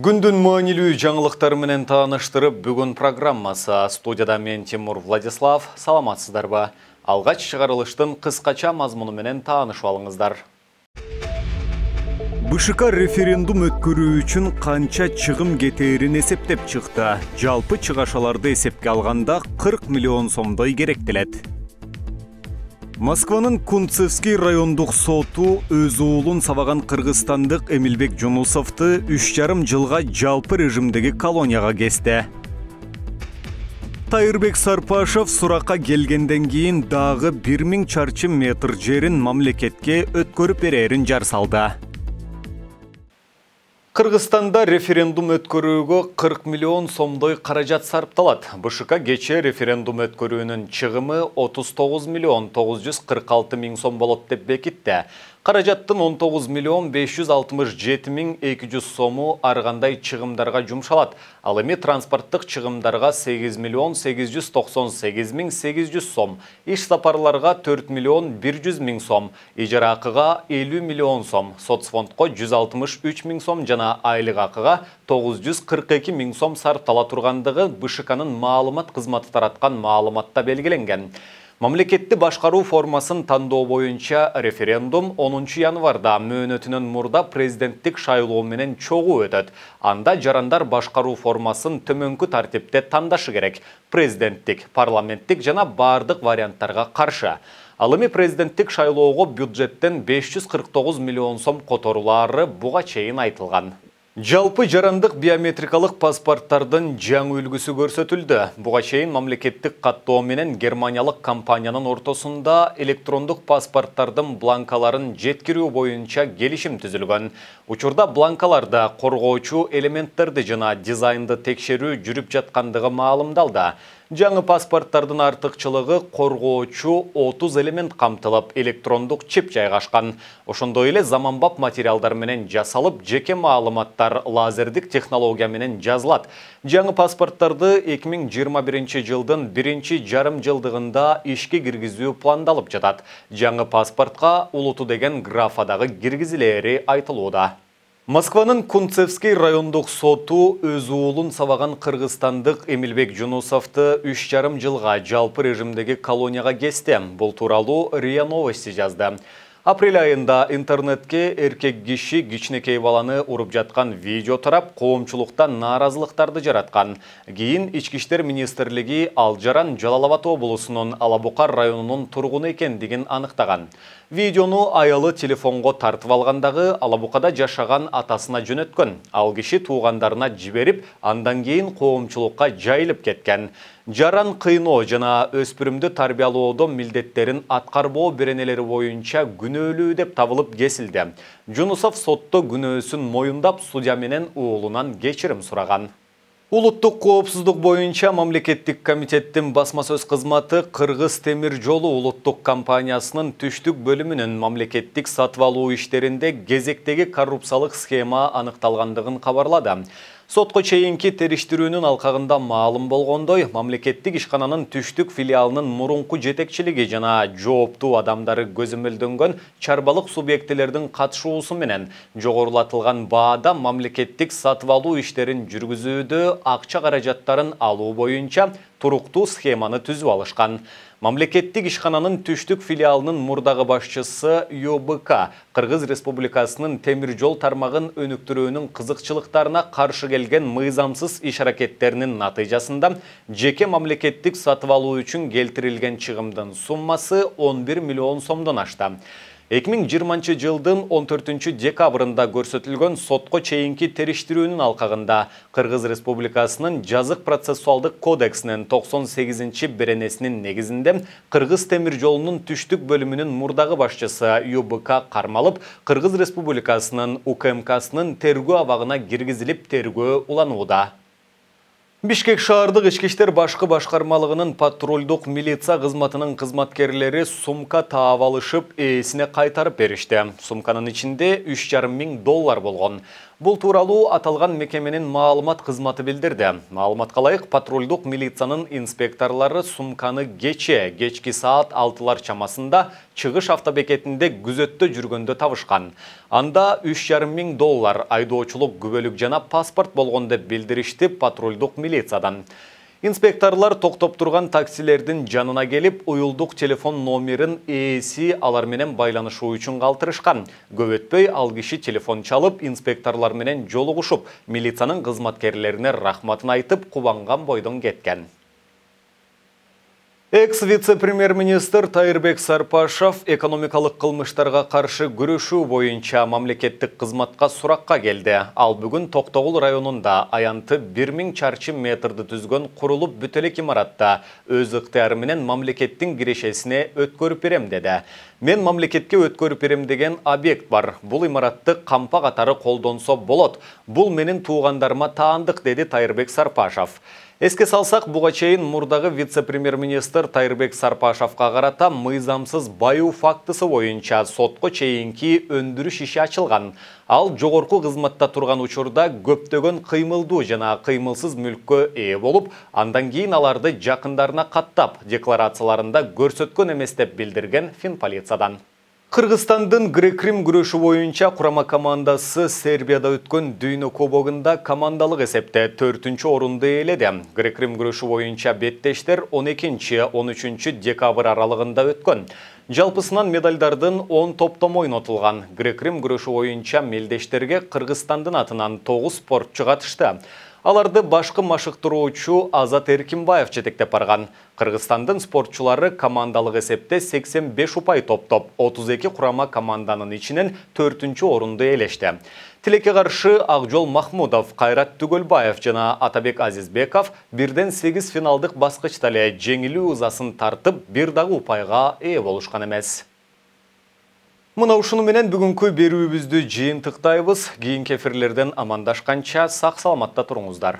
Күндүн маанилүү жаңылыктары менен тааныштырып, бүгүн программасы. Студияда мен Тимур Владислав. Саламатсыздарбы? Алгач чыгарылыштын кыскача мазмуну менен таанышып алыңыздар. БШК референдум өткөрүү үчүн канча чыгым кетээрин эсептеп чыкты. Жалпы чыгашаларды эсепке алганда 40 миллион сомдой керектелет. Москванын Кунцевский райондук соту өз уулун сабаган кыргызстандык Эмилбек Жунусовду 3,5 жылга жалпы режимдеги колонияга кести. Тайырбек Сарпашев суракка келгенден кийин дагы 1000 чарчы метр жерин мамлекетке өткөрүп берерин жар салды. Кыргызстанда референдум өткөрүүгө 40 миллион сомдой каражат сарпталат. БШК кечээ референдум өткөрүүнүн чыгымы 39 миллион 946 миң сом болот деп бекитти. Каражаттын 19 миллион 567 миң 200 сому ар кандай чыгымдарга жумшалат. Ал эми транспорттук чыгымдарга 8 миллион 898 миң 800 сом, иш сапарларга 4 миллион 100 миң сом, ижара акыга 50 миллион сом, соцфондко 163 миң сом жана айлык акыга 942 миң сом сарптала тургандыгы БШКнын маалымат кызматы тараткан маалыматта белгиленген. Мамлекетти башкаруу формасын тандоо боюнча референдум 10 январда мөөнөтүнөн мурда президенттик шайлоо менен чогуу өтөт. Анда жарандар башкаруу формасын төмөнкү тартипте тандашы керек: президенттик, парламенттик жана бардык варианттарга каршы. Ал эми президенттик шайлоого бюджеттен 549 миллион сом которулаары буга чейин айтылган. Жалпы жарандык биометрикалык паспорттардын жаңы үлгүсү көрсөтүлдү. Буга чейин мамлекеттик каттоо менен германиялык компаниянын ортосунда электрондук паспорттардын бланкаларын жеткирүү боюнча келишим түзүлгөн. Учурда бланкаларда коргоочу элементтерди жана дизайнды текшерүү жүрүп жаткандыгы маалымдалды. Жаңы паспорттардын артыкчылыгы коргоочу 30 элемент камтылып, электрондук чип жайгашкан. Ошондой эле заманбап материалдар менен жасалып, жеке маалыматтар лазердик технология менен жазылат. Жаңы паспорттарды 2021 жылдын 1,5 жылдыгында ишке киргизүү пландалып жатат. Жаңы паспортко улуту деген графа дагы киргизилери айтылууда. Москванын Кунцевский райондук соту өз уулун сабаган кыргызстандык Эмилбек Жунусовду 3,5 жылга жалпы режимдеги колонияга кести. Бул тууралуу РИА Новости жазды. Апрель айында интернетке эркек киши кичинекей баланы уруп жаткан видео тарап, коомчулукта нааразылыктарды жараткан. Кийин Ички иштер министрлиги ал жаран Жалал Абад облусунун Алабукар районунун тургуну экендигин аныктаган. Видеону аялы телефонго тартып алгандагы Алабукада жашаган атасына жөнөткөн. Ал киши туугандарына жиберип, андан кийин коомчулукка жайылып кеткен. Жаран кыйноо жана өспүрүмдү тарбиялоодо милдеттерин аткарбоо беренелери боюнча күнөөлүү деп табылып кесилди. Жунусов сотто күнөөсүн моюндап, судья менен уулунан кечирим сураган. Улуттук коопсуздук боюнча мамлекеттик комитеттин басма сөз кызматы Кыргыз темир жолу улуттук компаниясынын түштүк бөлүмүнүн мамлекеттик сатып алуу иштеринде кезектеги коррупциялык схема аныкталгандыгын кабарлады. Сотко чейинки териштирүүнүн алкагында маалым болгондой, мамлекеттик ишкананын түштүк филиалынын мурунку жетекчилиги жана жооптуу адамдары көзөмөлдөнгөн чарбалык субъектилердин катышуусу менен жогорулатылган баада мамлекеттик сатып алуу иштерин жүргүзүүдө акча каражаттарын алуу боюнча туруктуу схеманы түзүп алышкан. Мамлекеттик ишкананын түштүк филиалынын мурдагы башчысы ЮБК Кыргыз Республикасынын темир жол тармагын өнүктүрүүнүн кызыкчылыктарына каршы келген мыйзамсыз иш-аракеттеринин натыйжасында жеке мамлекеттик сатып алуу үчүн келтирилген чыгымдын суммасы 11 миллион сомдон ашты. 2020 жылдын 14 декабрында көрсөтүлгөн сотко чейинки териштирүүнүн алкагында Кыргыз Республикасынын жазык процессуалдык кодексинин 98 беренесинин негизинде Кыргыз темир жолунун түштүк бөлүмүнүн мурдагы башчысы ЮБК кармалып, Кыргыз Республикасынын УКМКсынын тергөө абагына киргизилип тергөө уланууда. Бишкек шаардык ички иштер башкы башкармалыгынын патрулдук милиция кызматынын кызматкерлери сумка таап алышып, ээсине кайтарып беришти. Сумканын ичинде $3,5 миң болгон. Бул тууралуу аталган мекеменин маалымат кызматы билдирди. Маалыматка ылайык, патрулдук милициянын инспекторлору сумканы кечки саат 6-лар чамасында чыгыш автобекетинде күзөттө жүргөндө табышкан. Анда $3,500 айдоочулук күбөлүк жана паспорт болгон деп билдиришти патрулдук милициядан. Инспекторлар токтоп турган таксилердин жанына келип, уюлдук телефон номерин ээси алар менен байланышуу үчүн калтырышкан. Көп өтпөй ал киши телефон чалып, инспекторлор менен жолугушуп, милициянын кызматкерлерине рахматын айтып, кубанган бойдон кеткен. Экс-вице-премьер-министр Тайырбек Сарпашев экономикалык кылмыштарга каршы күрөшүү боюнча мамлекеттик кызматка суракка келди. Ал бүгүн Токтогул районунда аянты 1000 чарчы метрди түзгөн курулуп бүтө элек имаратта өз ыктыяры менен мамлекеттин кирешесине өткөрүп берем деди. Мен мамлекетке өткөрүп берем деген объект бар. Бул имаратты кампа катары колдонсо болот. Бул менин туугандарыма таандык, деди Тайырбек Сарпашев. Эске салсак, буга чейин мурдагы вице-премьер-министр Тайырбек Сарпашевка карата мыйзамсыз баюу фактысы боюнча сотко чейинки өндүрүш иши ачылган. Ал жогорку кызматта турган учурда көптөгөн кыймылдуу жана кыймылсыз мүлккө ээ болуп, андан кийин аларды жакындарына каттап, декларацияларында көрсөткөн эмес деп билдирген Финполициядан. Кыргызстандын грек-рим күрөшү боюнча курама командасы Сербияда өткөн дүйнө кубогунда командалык эсепте 4-чү орунду ээледи. Грек-рим күрөшү боюнча беттештер 12-13 декабрь аралыгында өткөн. Жалпысынан медальдардын 10 топтом ойнотулган. Грек-рим күрөшү боюнча мелдештерге Кыргызстандын атынан 9 спортчу катышты. Аларды башкы машыктыруучу Азат Эркинбаев жетектеп барган. Кыргызстандын спортчулары командалык эсепте 85 упай топтоп, 32 курама команданын ичинен 4-чү орунду ээлешти. Тилекке каршы Акжол Махмудов, Кайрат Түгөлбаев жана Атабек Азизбеков 1-8 финалдык баскычта эле жеңилүү ызасын тартып, бир дагы упайга ээ болушкан эмес. Мына ушуну менен бүгүнкү берүүбүздү жыйынтыктайбыз. Кийинки эфирлерден амандашканча сак саламатта туруңуздар.